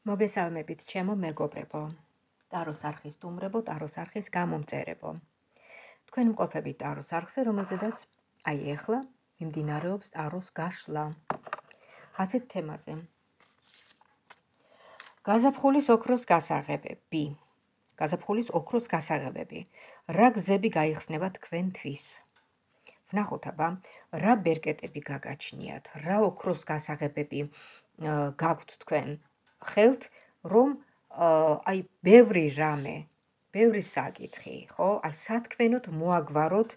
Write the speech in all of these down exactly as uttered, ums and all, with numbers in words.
მოგესალმებით, ჩემო მეგობრებო, ტაროს არხის სტუმრებო, ტაროს არხის გამომწერებო. თქვენ მყოფებით ტაროს არხზე, რომელზედაც აი ეხლა მიმდინარეობს ტაროს გაშლა. ასეთ თემაზე. გაზაფხულის ოქროს გასაღებები. გაზაფხულის ოქროს გასაღებები. რა გზები გაიხსნება თქვენთვის? ვნახოთ აბა, რა ბერკეტები გაგაჩნიათ, რა ოქროს გასაღებები გაქვთ თქვენ ხელთ, რომ აი ბევრი რამე, ბევრი საკითხი, ხო? აი სათქმენოდ მოაგვაროთ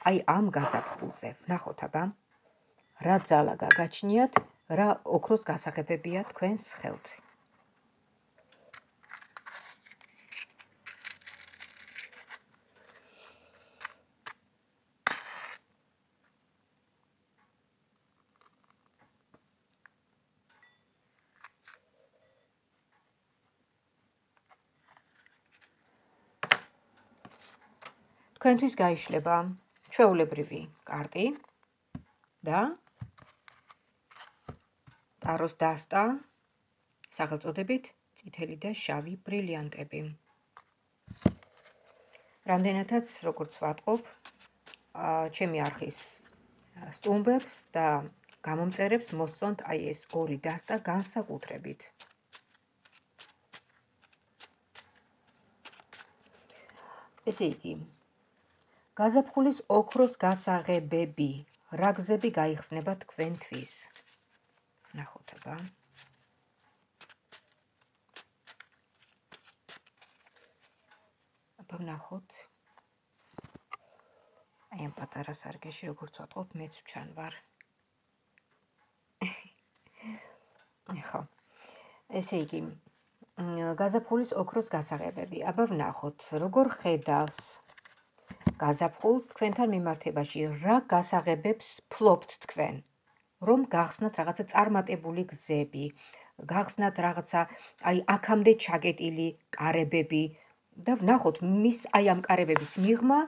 აი ამ გაზაფხულზე. ვნახოთ აბა, რა ძალა გაგაჩნიათ, რა ოქროს გასაღებებია თქვენს ხელთ. თქვენთვის გაიშლება ჩვეულებრივი კარტი და ტაროს დასტა სახელწოდებით წითელი და შავი ბრილიანტები. რამდენადაც როგორც ვატყობ, ჩემი არხის სტუმრებს და გამომწერებს მოსწონთ აი ეს ორი დასტა განსაკუთრებით. ესე იგი, გაზაფხულის ოქროს გასაღებები, რა გზები გაიხსნება თქვენთვის? ნახოთ აბა. აბა ვნახოთ. აი ამ პატარა სარკეში როგორც ვატყობ, მეც ვჩან ვარ. ხო. ესე იგი, გაზაფხულის ოქროს გასაღებები. აბა ვნახოთ, როგორ ხედავს გაზაფხულს თქვენთან მიმართებაში, რა გასაღებებს ფლობთ თქვენ, რომ გახსნათ რაღაცა წარმატებული გზები, გახსნათ რაღაცა აი აქამდე ჩაკეტილი კარებები და ვნახოთ მის აი ამ კარებების მიღმა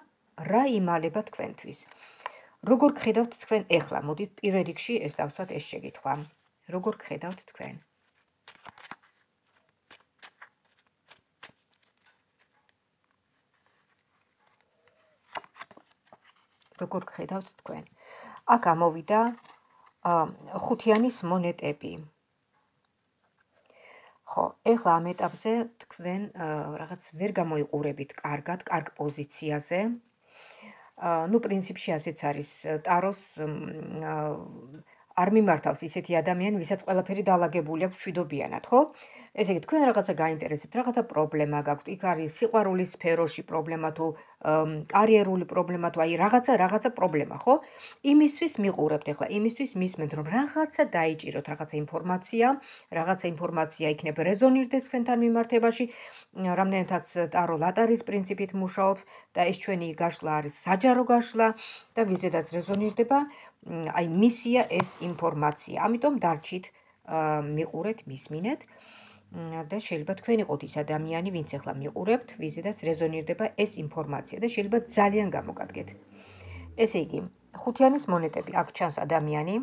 რა იმალება თქვენთვის. როგორ გხედავთ თქვენ ეხლა? მოდით პირველ რიგში ეს დავსვათ ეს შეკითხვა. როგორ გხედავთ თქვენ? როგორ გხედავთ თქვენ? აქ ამოვიდა ხუთიანის მონეტები. ხო, ეხლა ამ ეტაპზე თქვენ რაღაც ვერ გამოიყურებით კარგად, კარგ პოზიციაზე. ნუ პრინციპში ასეც არის, ტაროს არ მიმართავს ისეთი ადამიანი, ვისაც ყველაფერი დაალაგებული აქვს მშვიდობიანად, ხო? ესე იგი, თქვენ რაღაცა გაინტერესებთ, რაღაცა პრობლემა გაქვთ, იქ არის სიყვარულის სფეროში პრობლემა თუ კარიერული პრობლემა თუ აი რაღაცა რაღაცა პრობლემა, ხო? იმისთვის მიყურებთ ეხლა, იმისთვის მისმენთ, რომ რაღაცა დაიჭიროთ, რაღაცა ინფორმაცია, რაღაცა ინფორმაცია იქნება რეზონირდეს თქვენთან მიმართებაში, რამდენადაც ტარო ლატარის პრინციპით მუშაობს და ეს ჩვენი გაშლა არის საჯარო გაშლა და ვიზედაც რეზონირდება, აი მისია ეს ინფორმაცია. ამიტომ დარჩით, მიყურეთ, მისმინეთ და შეიძლება თქვენ იყოთ ის ადამიანი, ვინც ახლა მიყურებთ, ვიზედაც რეზონირდება ეს ინფორმაცია და შეიძლება ძალიან გამოგადგეთ. ესე იგი, ხუთიანის მონეტები, აქ ჩანს ადამიანი,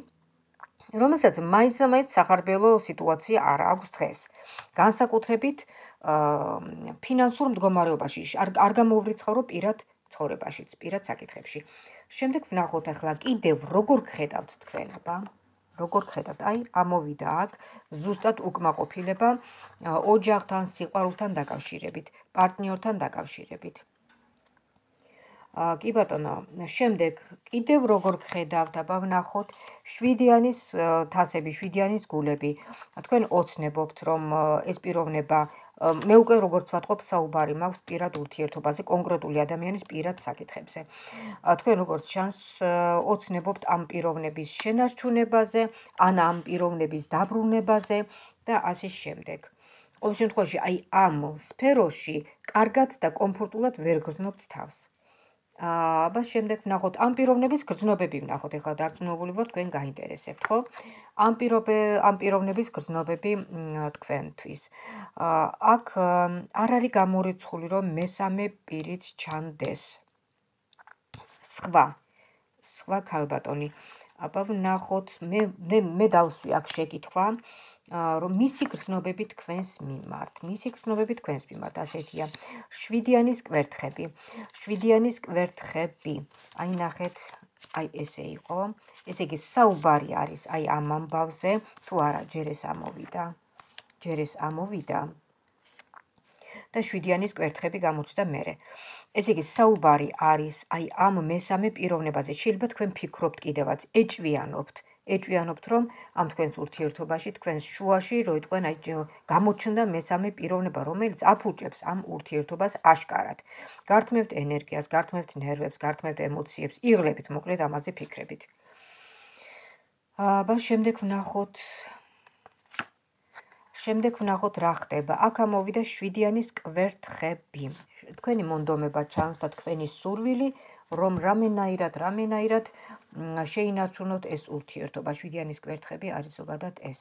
რომელსაც მაინც და მაინც სახარბელო სიტუაცია არ აქვს დღეს. განსაკუთრებით ფინანსურ მდგომარეობაში, არ გამოვრიცხავრო პირად ცხოვრებაშიც, პირად საკითხებში. შემდეგ ვნახოთ ახლა კიდევ როგორ გხედავთ თქვენ, აბა? როგორ გხედავთ? აი, ამოვიდა აქ ზუსტად უკმაყოფილება ოჯახთან, სიყვარულთან დაკავშირებით, პარტნიორთან დაკავშირებით. კი ბატონო, შემდეგ კიდევ როგორ გხედავთ, აბა ვნახოთ შვიდიანის თასები, შვიდიანის გულები. თქვენ ოცნებობთ, რომ ეს პიროვნება, მე უკვე როგორც ვატყობ, საუბარი მაქვს პირად ურთიერთობაზე, კონკრეტული ადამიანის პირად საკითხებზე. თქვენ როგორც ჩანს, ოცნებობთ ამ პიროვნების შენარჩუნებაზე, ან ამ პიროვნების დაბრუნებაზე და ასე შემდეგ. ყოველ შემთხვევაში, აი ამ სფეროში კარგად და კომფორტულად ვერ გრძნობთ თავს. აბა შემდეგ ვნახოთ ამ პიროვნების გრძნობები ვნახოთ, ეხლა დარწმუნებული ვარ თქვენ გაინტერესებთ, ხო? ამ ამ პიროვნების გრძნობები თქვენთვის. აქ არ არის გამორიცხული, რომ მესამე პირიც ჩანდეს. სხვა, სხვა ქალბატონი. აბა ვნახოთ, მე მე დავსვი აქ შეკითხვა, რომ მისი გრძნობები თქვენს მიმართ, მისი გრძნობები თქვენს მიმართ, ასეთია. შვიდიანის კვერთხები. შვიდიანის კვერთხები. აი ნახეთ, აი ესე იყო. ესე იგი საუბარი არის აი ამ ამბავზე, თუ არა, ჯერ ეს ამოვიდა. ჯერ ეს ამოვიდა. და შვიდიანის კვერთხები გამოჩნდა მერე. ესე იგი საუბარი არის აი ამ მესამე პიროვნებაზე. შეიძლება თქვენ ფიქრობთ კიდევაც, ეჭვიანობთ. ეჭვიანობთ, რომ ამ თქვენს ურთიერთობაში, თქვენს შუაში, რო იტყვენ, აი გამოჩნდა მესამე პიროვნება, რომელიც აფუჭებს ამ ურთიერთობას აშკარად. გართმევთ ენერგიას, გართმევთ ნერვებს, გართმევთ ემოციებს, იღლებით, მოკლედ ამაზე ფიქრებით. აბა შემდეგ ვნახოთ შემდეგ ვნახოთ რა ხდება. აქ ამოვიდა შვიდიანის კვერთხები. თქვენი მონდომება ჩანს და თქვენი სურვილი, რომ რამენაირად, რამენაირად შეინარჩუნოთ ეს ურთიერთობა. შვიდიანის კვერთხები არის ზოგადად ეს.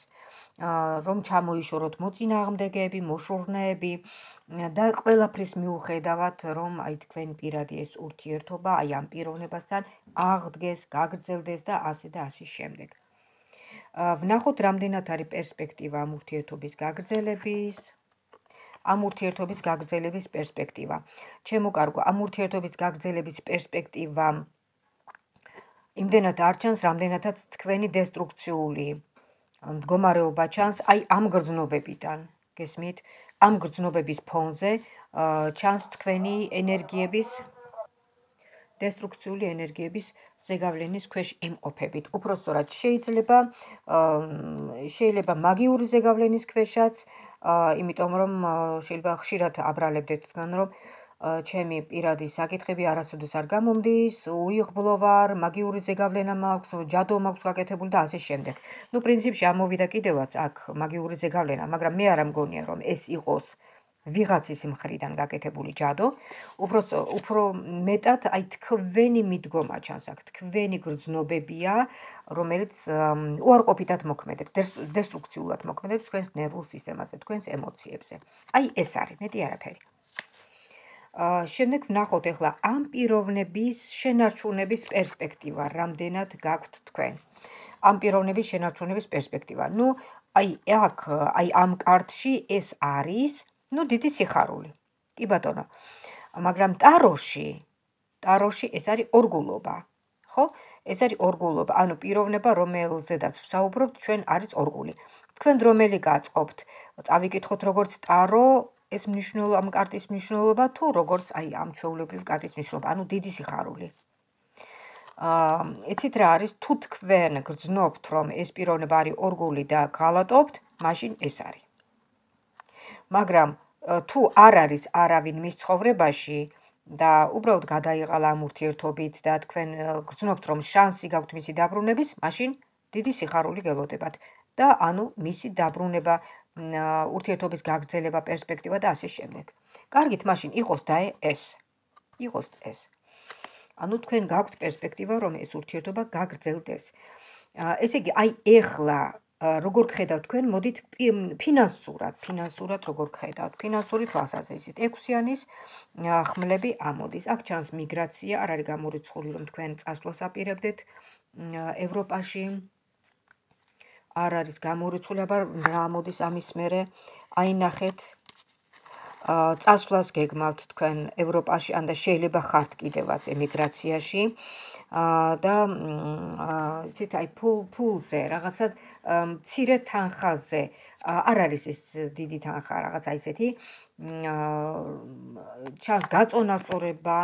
რომ ჩამოიშოროთ მოწინააღმდეგეები, მოშურნეები და ყველაფრის მიუხედავად, რომ აი თქვენ პირადი ეს ურთიერთობა აი ამ პიროვნებასთან აღდგეს, გაგრძელდეს და ასე და ასე შემდეგ. ვნახოთ რამდენად არის პერსპექტივა ამ ურთიერთობის გაგრძელების. ამ ურთიერთობის გაგრძელების პერსპექტივა. ჩემო კარგო, ამ ურთიერთობის გაგრძელების პერსპექტივა იმდენად არ ჩანს, რამდენადაც თქვენი დესტრუქციული მდგომარეობა ჩანს აი ამ გრძნობებიდან. გესმით? ამ გრძნობების ფონზე ჩანს თქვენი ენერგიების დესტრუქციული ენერგიების ზეგავლენის ქვეშ იმყოფებით. უпростоრად შეიძლება შეიძლება მაგიური ზეგავლენის ქვეშაც, იმიტომ რომ შეიძლება ხშირად აბრალებდეთ თქვენ, რომ ჩემი პირადი საკითხები არასოდეს არ გამომდის, უიღბლო ვარ, მაგიური ზეგავლენა მაქვს, ჯადო მაქვს გაკეთებული და ასე შემდეგ. ნუ პრინციპში ამოვიდა კიდევაც აქ მაგიური ზეგავლენა, მაგრამ მე არ მგონია, რომ ეს იყოს ვიღაცის მხრიდან გაკეთებული ჯადო, უფრო მეტად აი თქვენი მიდგომა ჩანს აქ, თქვენი გრძნობებია, რომელიც უარყოფითად მოქმედებს, დესტრუქციულად მოქმედებს თქვენს ნერვულ სისტემაზე, თქვენს ემოციებზე. აი ეს არის, მეტი არაფერი. შემდეგ ვნახოთ ახლა ამ პიროვნების შენარჩუნების პერსპექტივა, რამდენად გაქვთ თქვენ. ამ პიროვნების შენარჩუნების პერსპექტივა. ნუ აი აქ, აი ამ კარტში ეს არის ნუ დიდი სიხარული. კი ბატონო. მაგრამ ტაროში, ტაროში ეს არის ორგულობა. ხო? ეს არის ორგულობა, ანუ პიროვნება, რომელზედაც ვსაუბრობთ, ჩვენ არის ორგული. თქვენ რომელი გაწყობთ? წავიკითხოთ როგორც ტარო, ეს მნიშვნელობა, ამ კარტის მნიშვნელობა თუ როგორც აი ამ ჩვეულებრივ კარტის მნიშვნელობა, ანუ დიდი სიხარული. აა, იცით რა არის? თუ თქვენ გრძნობთ, რომ ეს პიროვნება არის ორგული და გღალატობთ, მაშინ ეს არის. მაგრამ თუ არ არის არავინ მის ცხოვრებაში და უბრალოდ გადაიყალა ამ ურთიერთობით და თქვენ გრძნობთ, რომ შანსი გაქვთ მისი დაბრუნების, მაშინ დიდი სიხარული გელოდებათ და ანუ მისი დაბრუნება, ურთიერთობის გაგრძელება, პერსპექტივა და ასე შემდეგ. კარგით, მაშინ იყოს და ეს. იყოს ეს. ანუ თქვენ გაქვთ პერსპექტივა, რომ ეს ურთიერთობა გაგრძელდეს. ესე იგი, აი ეხლა როგორ გხედავთ თქვენ, მოდით ფინანსურად, ფინანსურად როგორ გხედავთ, ფინანსური თვალსაზრისით. ექვსიანის ხმლები ამოდის. აქ ჩანს მიგრაცია, არ არის გამორიცხული, რომ თქვენ წასვლას აპირებდეთ ევროპაში. არ არის გამორიცხული, აბა რა მოდის ამის მერე, აი ნახეთ, წასვლას გეგმავთ თქვენ ევროპაში, ან და შეიძლება ხართ კიდევაც ემიგრაციაში და იცით, აი ფულზე, რაღაცა მცირე თანხაზე, არ არის ეს დიდი თანხა, რაღაცა ისეთი, ჩანს გაწონასწორება,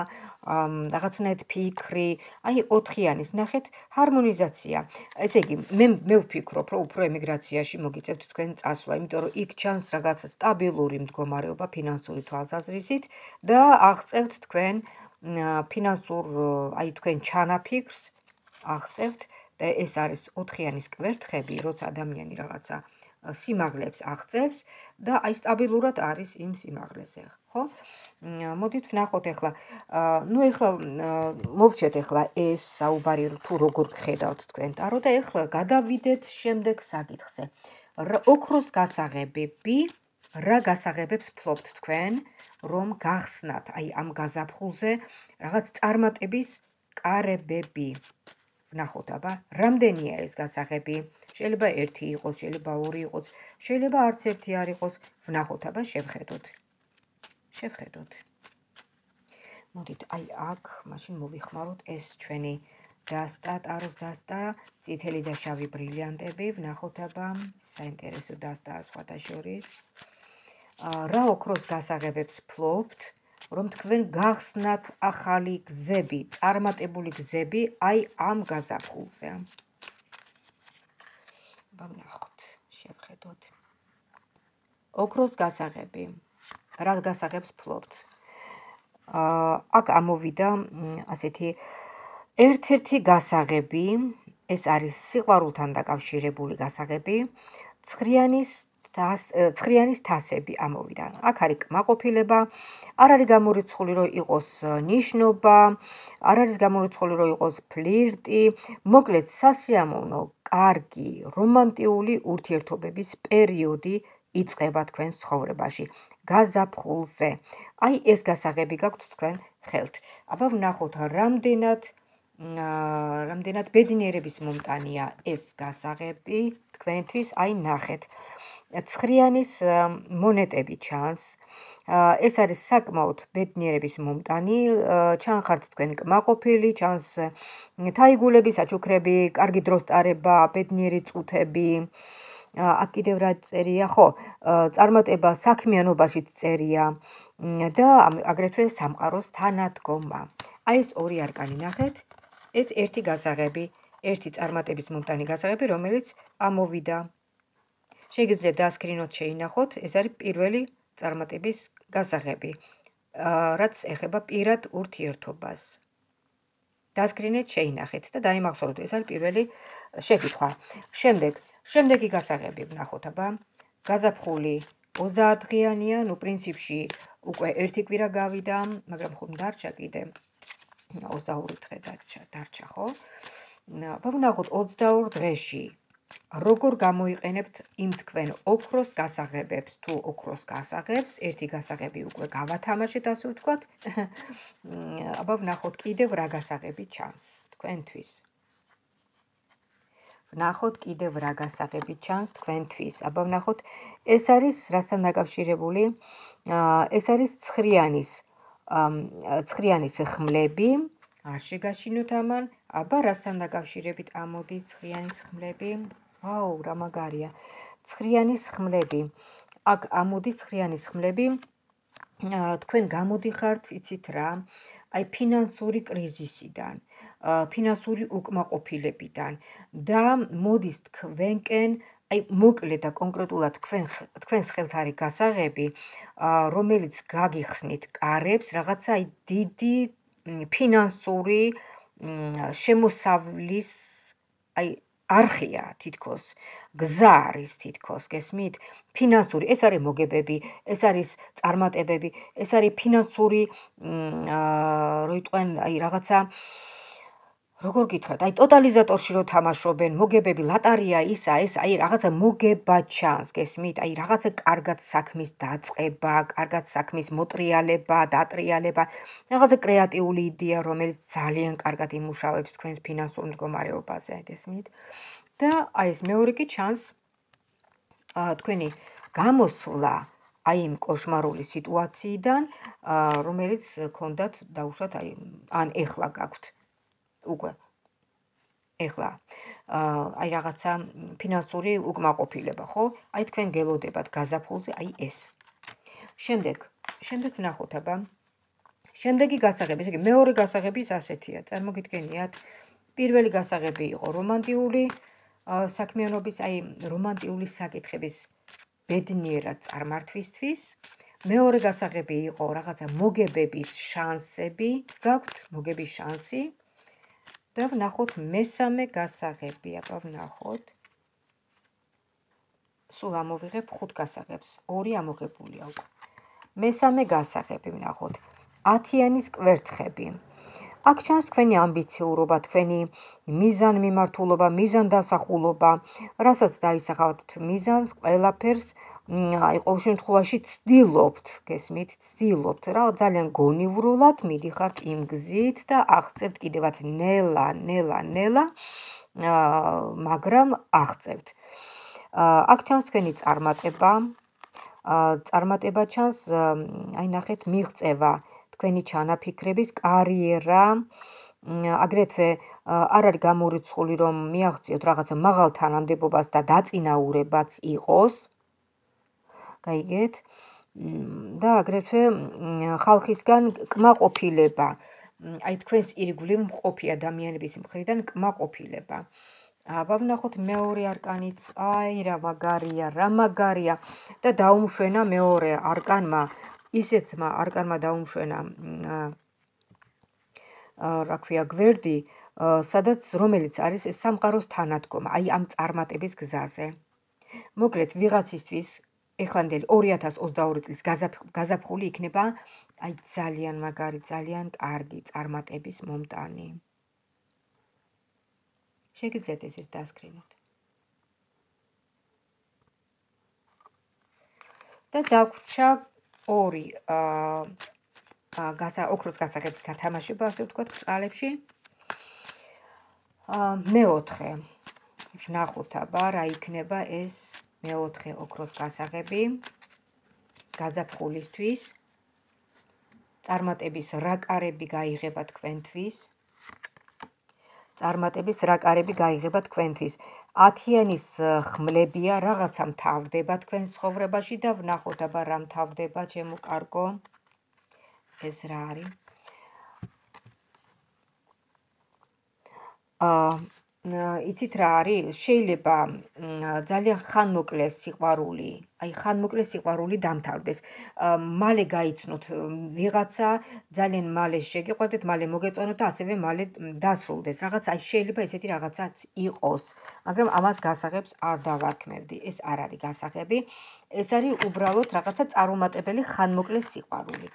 რაღაცნაირად ფიქრი, აი ოთხიანის, ნახეთ, ჰარმონიზაცია. ესე იგი, მე მე ვფიქრობ, რომ უფრო ემიგრაციაში მოგიწევთ თქვენ წასვლა, იმიტომ რომ იქ ჩანს რაღაცა სტაბილური მდგომარეობა ფინანსური თვალსაზრისით და აღწევთ თქვენ ფინანსურ, აი თქვენ ჩანაფიქრს აღწევთ და ეს არის ოთხიანის კვერთხები, როცა ადამიანი რაღაცა სიმაღლეებს აღწევს და აი სტაბილურად არის იმ სიმაღლეზე, ხო? მოდით ვნახოთ ახლა, ნუ ახლა მოვჩეთ ახლა ეს საუბარი თუ როგორ გხედავთ თქვენ ტარო და ახლა გადავიდეთ შემდეგ საკითხზე. ოქროს გასაღებები, რა გასაღებებს ფლობთ თქვენ, რომ გახსნათ აი ამ გაზაფხულზე რაღაც წარმატების კარებები. ვნახოთ აბა, რამდენია ეს გასაღები? შეიძლება ერთი იყოს, შეიძლება ორი იყოს, შეიძლება არც ერთი არ იყოს. ვნახოთ, აბა შევხედოთ. შევხედოთ. მოდით, აი აქ, მაშინ მოვიხმაროთ ეს ჩვენი დასტა, ტაროს დასტა, წითელი და შავი ბრილიანტები, ვნახოთ აბა, საინტერესო დასტაა სხვათა შორის. რა ოქროს გასაღებებს ფლობთ, რომ თქვენ გახსნათ ახალი გზები, წარმატებული გზები აი ამ გაზაფხულზე. აბა ვნახოთ, შევხედოთ. ოქროს გასაღები. რა გასაღებს ფლობთ? აქ ამოვიდა ასეთი ერთ-ერთი გასაღები, ეს არის სიყვარულთან დაკავშირებული გასაღები, ცხრიანის ცხრიანის თასები ამოვიდა. აქ არის კმაყოფილება, არ არის გამორიცხული, რომ იყოს ნიშნობა, არ არის გამორიცხული, რომ იყოს ფლირტი, მოკლედ სასიამოვნო, კარგი, რომანტიული ურთიერთობების პერიოდი იწყება თქვენს ცხოვრებაში. გაზაფხულზე. აი ეს გასაღები გაქვთ თქვენ ხელთ. აბა ვნახოთ, რამდენად რამდენად ბედნიერების მომტანია ეს გასაღები თქვენთვის, აი ნახეთ. ცხრიანის მონეტები ჩანს. ეს არის საკმაოდ ბედნიერების მომტანი, ჩანხართ თქვენ კმაყოფილი, ჩანს თაიგულები, საჩუქრები, კარგი დროს ტარება, ბედნიერი წუთები. აქ კიდევ რა წერია, ხო, წარმატება საქმიანობაშიც წერია და აგრეთვე სამყაროს თანადგომა. აი ეს ორი არკანი ნახეთ, ეს ერთი გასაღები, ერთი წარმატების მომტანი გასაღები, რომელიც ამოვიდა. შეგიძლიათ დასკრინოთ, შეინახოთ, ეს არის პირველი წარმატების გასაღები, რაც ეხება პირად ურთიერთობას. დასკრინეთ, შეინახეთ და დაიმახსოვროთ, ეს არის პირველი შეკითხვა. შემდეგ შემდეგი გასაღები ვნახოთ, აბა გაზაფხული ოცდაათ დღიანია, ნუ პრინციპში უკვე ერთი კვირა გავიდა, მაგრამ ხომ დარჩა კიდე ოცდაორი დღე დარჩა, ხო? აბა ვნახოთ ოცდაორ დღეში როგორ გამოიყენებთ იმ თქვენ ოქროს გასაღებებს, თუ ოქროს გასაღებს, ერთი გასაღები უკვე გავათამაშეთ, ასე ვთქვათ. აბა ვნახოთ კიდევ რა გასაღები ჩანს თქვენთვის. ვნახოთ კიდევ რა გასაღები ჩანს თქვენთვის. აბა ვნახოთ, ეს არის რასთან დაკავშირებული? ეს არის ცხრიანის ცხრიანის ხმლები. არ შეგაშინოთ ამან. აბა რასთან დაკავშირებით ამოდის ცხრიანის ხმლები? ვაუ, რა მაგარია. ცხრიანის ხმლები. აქ ამოდის ცხრიანის ხმლები. თქვენ გამოდიხართ, იცით რა, აი ფინანსური კრიზისიდან, ფინანსური უკმაყოფილებიდან და მოდის თქვენკენ, აი მოკლედ და კონკრეტულად თქვენს ხელთ არის გასაღები, რომელიც გაგიხსნით კარებს, რაღაცა აი დიდი ფინანსური შემოსავლის აი არხია თითქოს, გზა არის თითქოს, გესმით? ფინანსური, ეს არის მოგებები, ეს არის წარმატებები, ეს არის ფინანსური, რო იტყვენ, აი რაღაცა, როგორ გითხრათ, აი ტოტალიზატორში რო თამაშობენ, მოგებები, ლატარია ისა, ეს აი რაღაცა მოგება ჩანს, გესმით? აი რაღაცა კარგად საქმის დაწყება, კარგად საქმის მოტრიალება, დატრიალება, რაღაცა კრეატიული იდეა, რომელიც ძალიან კარგად იმუშავებს თქვენს ფინანსურ მდგომარეობაზე, გესმით? და აი ეს მეორე კი ჩანს თქვენი გამოსვლა აი იმ კოშმარული სიტუაციიდან, რომელიც გქონდათ დაუშვათ, აი ან ეხლა გაქვთ. უკვე ეხლა აი რაღაცა ფინანსური უკმაყოფილება, ხო? აი თქვენ გელოდებათ გაზაფხულზე, აი ეს. შემდეგ, შემდეგ ვნახოთ, აბა. შემდეგი გასაღები, ესე იგი მეორე გასაღებიც ასეთია. წარმოგიდგენიათ, პირველი გასაღები იყო რომანტიული საქმიანობის, აი რომანტიული საკითხების ბედნიერად წარმართვისთვის. მეორე გასაღები იყო რაღაცა მოგებების შანსები, გაქვთ მოგების შანსი. და ვნახოთ მესამე გასაღები, აბა ვნახოთ. სულ ამოვიღებ ხუთ გასაღებს, ორი ამოღებულია უკვე. მესამე გასაღები ვნახოთ. ათიანის კვერთხები. აქ ჩანს თქვენი ამბიციურობა, თქვენი მიზანმიმართულობა, მიზანდასახულობა, რასაც დაისახავთ მიზანს, ყველაფერს აი ყოველ შემთხვევაში ცდილობთ, გესმით, ცდილობთ რა, ძალიან გონივრულად მიდიხართ იმ გზით და აღწევთ კიდევაც ნელა, ნელა, ნელა მაგრამ აღწევთ. აქ ჩანს თქვენი წარმატება, წარმატება ჩანს, აი ნახეთ, მიღწევა თქვენი ჩანაფიქრების, კარიერა, აგრეთვე არ არის გამორიცხული, რომ მიაღწიოთ რაღაცა მაღალ თანამდებობას და დაწინაურებაც იყოს. გაიგეთ? და აგრეთვე ხალხისგან კმაყოფილება, აი თქვენს ირგვლივ მყოფი ადამიანების მხრიდან კმაყოფილება. აბა ვნახოთ მეორე არკანიც, აი რა მაგარია, რა მაგარია და დაუმშვენა მეორე არკანმა, ისეთმა არკანმა დაუმშვენა, რა ქვია, გვერდი, სადაც რომელიც არის სამყაროს თანადგომა, აი ამ წარმატების გზაზე. მოკლედ ვიღაცისთვის ეხლანდელი ორი ათას ოცდაორი წლის გაზაფხული იქნება აი ძალიან მაგარი, ძალიან კარგი წარმატების მომტანი. შეგიძლიათ ესეც დასკრინოთ. და დაგვრჩა ორი ოქროს გასაღების გათამაშება, ასე ვთქვათ, ბრჭყალებში. მეოთხე. ვნახოთ აბა რა იქნება ეს მეოთხე ოქროს გასაღები გაზაფხულისთვის. წარმატების რა კარები გაიღება თქვენთვის. წარმატების რა კარები გაიღება თქვენთვის. ათიანის ხმლებია, რაღაცა მთავრდება თქვენს ცხოვრებაში და ვნახოთ აბა რა მთავრდება, ჩემო კარგო. ეს რა არის? იცით რა არის? შეიძლება ძალიან ხანმოკლეს სიყვარული, აი ხანმოკლეს სიყვარული დამთავრდეს. მალე გაიცნოთ ვიღაცა, ძალიან მალე შეგიყვარდეთ, მალე მოგეწონოთ და ასევე მალე დასრულდეს. რაღაც აი შეიძლება ესეთი რაღაცაც იყოს, მაგრამ ამას გასაღებს არ დავარქმევდი. ეს არ არის გასაღები, ეს არის უბრალოდ რაღაცა წარუმატებელი ხანმოკლეს სიყვარული.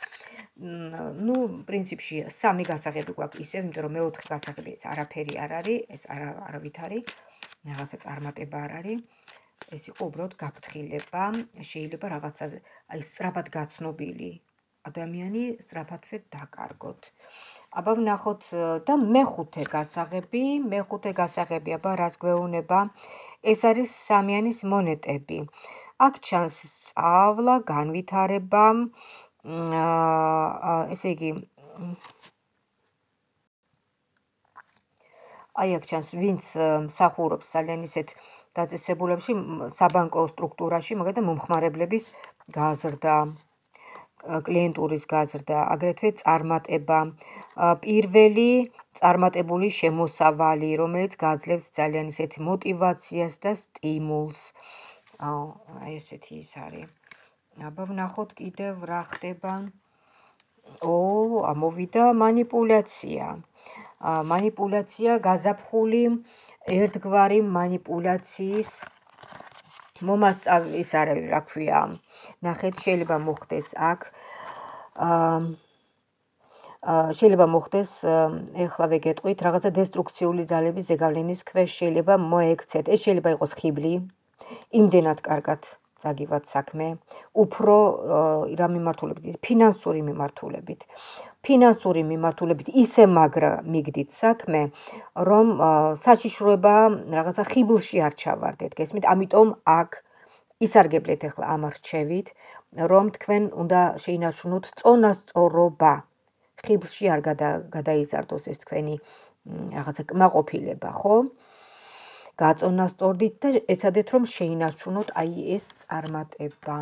ნუ პრინციპში სამი გასაღები გვაქვს ისევ, იმიტომ რომ მეოთხე გასაღები ეს არაფერი არ არის, ეს არავით არის, რაღაცა წარმატება არ არის. ეს იყო უბრალოდ გაფრთხილება, შეიძლება რაღაცაზე აი სწრაფად გაცნობილი ადამიანი სწრაფადვე დაკარგოთ. აბა ვნახოთ და მეხუთე გასაღები, მეხუთე გასაღები, აბა რას გვეუბნება? ეს არის სამიანის მონეტები. აქ ჩანს სწავლა, განვითარება, ესე იგი აი აქ ჩანს ვინც მსახურობს ძალიან ისეთ დაწესებულებში, საბანკო სტრუქტურაში, მაგალითად მომხმარებლების გაზრდა, კლიენტურის გაზრდა, აგრეთვე წარმატება, პირველი წარმატებული შემოსავალი, რომელიც გაძლევს ძალიან ისეთ მოტივაციას და სტიმულს. აი ესეთი ის არის. აბა ვნახოთ კიდევ რა ხდება. ო, ამოვიდა მანიპულაცია. მანიპულაცია, გაზაფხული, ერთგვარი მანიპულაციის მომასწავლის არის, რა ქვია. ნახეთ, შეიძლება მოხდეს აქ. შეიძლება მოხდეს, ეხლა ვეგეტყვით, რაღაცა დესტრუქციული ძალების ზეგავლენის ქვეშ შეიძლება მოექცეთ. ეს შეიძლება იყოს ხიბლი, იმდენად კარგად წაგივათ საქმე, უფრო რა მიმართულებით, ფინანსური მიმართულებით. ფინანსური მიმართულებით ისე მაგრა მიგდით საქმე, რომ საშიშროება რაღაცა ხიბლში არ ჩავარდეთ, გესმით? ამიტომ აქ ისარგებლეთ ახლა ამ რჩევით, რომ თქვენ უნდა შეინარჩუნოთ წონასწორობა. ხიბლში არ გადაიზარდოს ეს თქვენი რაღაცა კმაყოფილება, ხო? გაწონასწორდით და ეცადეთ რომ შეინარჩუნოთ აი ეს წარმატება.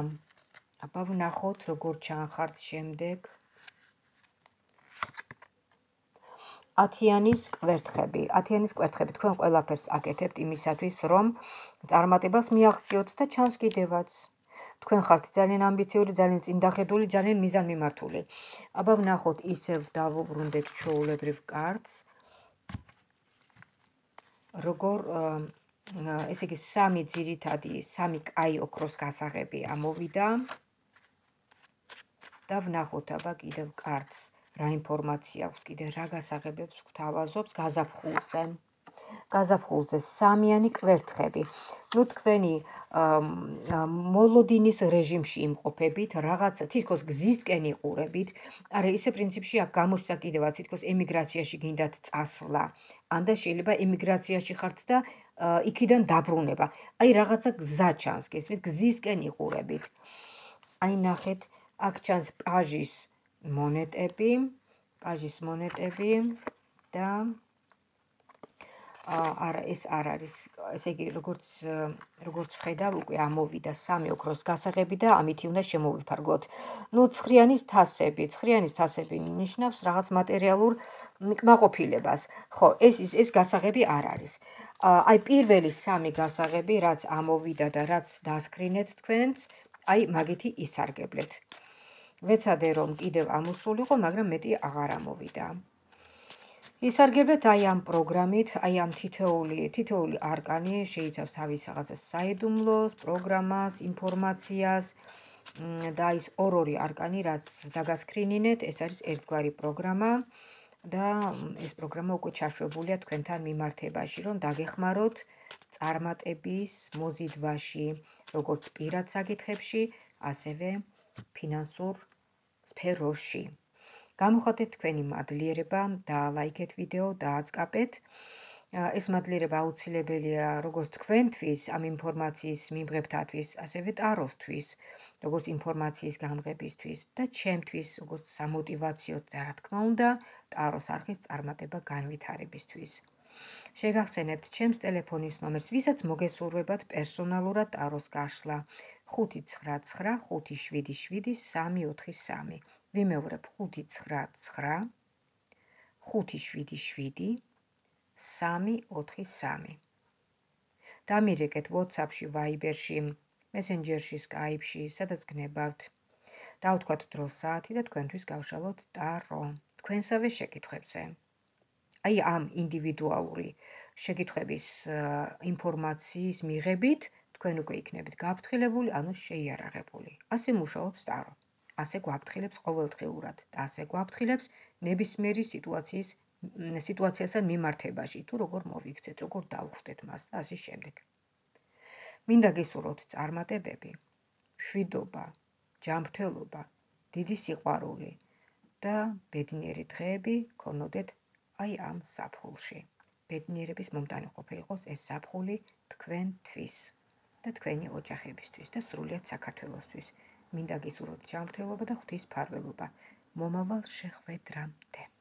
აბა ვნახოთ როგორ ჩანხართ შემდეგ. ათიანის კვერთხები. ათიანის კვერთხები თქვენ ყველაფერს აკეთებთ იმისათვის, რომ წარმატებას მიაღწიოთ და ჩანს კიდევაც. თქვენ ხართ ძალიან ამბიციური, ძალიან წინდახედული, ძალიან მიზანმიმართული. აბა ვნახოთ, ისევ დავუბრუნდეთ ჩვეულებრივ კარტს. როგორ ესე იგი სამი ძირითადი, სამი კაი ოქროს გასაღები ამოვიდა. და ვნახოთ აბა კიდევ კარტს რა ინფორმაცია აქვს, კიდევ რა გასაღებებს გვთავაზობს გაზაფხულზე. გაზაფხულზე სამიანი კვერთხები. ნუ თქვენი მოლოდინის რეჟიმში იმყოფებით, რაღაცა თითქოს გზისკენ იყურებით. არა, ისე პრინციპში აქ გამოჩნდა კიდევაც თითქოს ემიგრაციაში გინდათ წასვლა. ან და შეიძლება ემიგრაციაში ხართ და იქიდან დაბრუნება. აი რაღაცა გზა ჩანს, გესმით, გზისკენ იყურებით. აი ნახეთ, აქ ჩანს პაჟის მონეტები, პაჟის მონეტები და არა, ეს არ არის, ესე იგი, როგორც როგორც ვხედავ, უკვე ამოვიდა სამი ოქროს გასაღები და ამითი უნდა შემოვიფარგლოთ. ნუ ცხრიანის თასები, ცხრიანის თასები ნიშნავს რაღაც მატერიალურ კმაყოფილებას. ხო, ეს ეს გასაღები არ არის. აი პირველი სამი გასაღები, რაც ამოვიდა და რაც დასკრინეთ თქვენც, აი მაგითი ისარგებლეთ. ვეცადე რომ კიდევ ამოსულიყო, მაგრამ მეტი აღარ ამოვიდა. ისარგებლეთ აი ამ პროგრამით, აი ამ თითოეული თითოეული არკანი შეიცავს თავის რაღაცას საიდუმლოს, პროგრამას, ინფორმაციას და ის ორ-ორი არკანი, რაც დაგასკრინინეთ, ეს არის ერთგვარი პროგრამა და ეს პროგრამა უკვე ჩაშვებულია თქვენთან მიმართებაში, რომ დაგეხმაროთ წარმატების მოზიდვაში, როგორც პირად საკითხებში, ასევე ფინანსურ სფეროში. გამოხატეთ თქვენი მადლიერება, დაალაიქეთ ვიდეო, დააწყაპეთ. ეს მადლიერება აუცილებელია როგორც თქვენთვის, ამ ინფორმაციის მიმღებთათვის, ასევე ტაროსთვის, როგორც ინფორმაციის გამღებისთვის და ჩემთვის, როგორც სამოტივაციო და რა თქმა უნდა, ტაროს არხის წარმატება განვითარებისთვის. შეგახსენებთ ჩემს ტელეფონის ნომერს, ვისაც მოგესურვებათ პერსონალურად ტაროს გაშლა ხუთი ცხრა ცხრა ხუთი შვიდი შვიდი სამი ოთხი სამი. ვიმეორებ ხუთი ცხრა ცხრა ხუთი შვიდი შვიდი სამი ოთხი სამი. დამირეკეთ WhatsApp-ში, Viber-ში, Messenger-ში, Skype-ში, სადაც გნებავთ. დავთქვათ დრო საათი და თქვენთვის გავშალოთ ტარო თქვენსავე შეკითხვებზე. აი ამ ინდივიდუალური შეკითხვების ინფორმაციის მიღებით თქვენ უკვე იქნებით გაფრთხილებული, ანუ შეიარაღებული. ასე მუშაობს ტარო. ასე გვაფრთხილებს ყოველდღიურად და ასე გვაფრთხილებს ნებისმიერი სიტუაციის სიტუაციასთან მიმართებაში, თუ როგორ მოვიქცეთ, როგორ დავხვდეთ მას და ასე შემდეგ. მინდა გისურვოთ წარმატებები, მშვიდობა, ჯანმრთელობა, დიდი სიყვარული და ბედნიერი დღეები გქონოდეთ აი ამ ზაფხულში. ბედნიერების მომტანი ყოფილიყოს ეს ზაფხული თქვენთვის და თქვენი ოჯახებისთვის და სრულიად საქართველოსთვის. მინდა გისურვოთ ჯანმრთელობა და ღვთის მფარველობა. მომავალ შეხვედრამდე.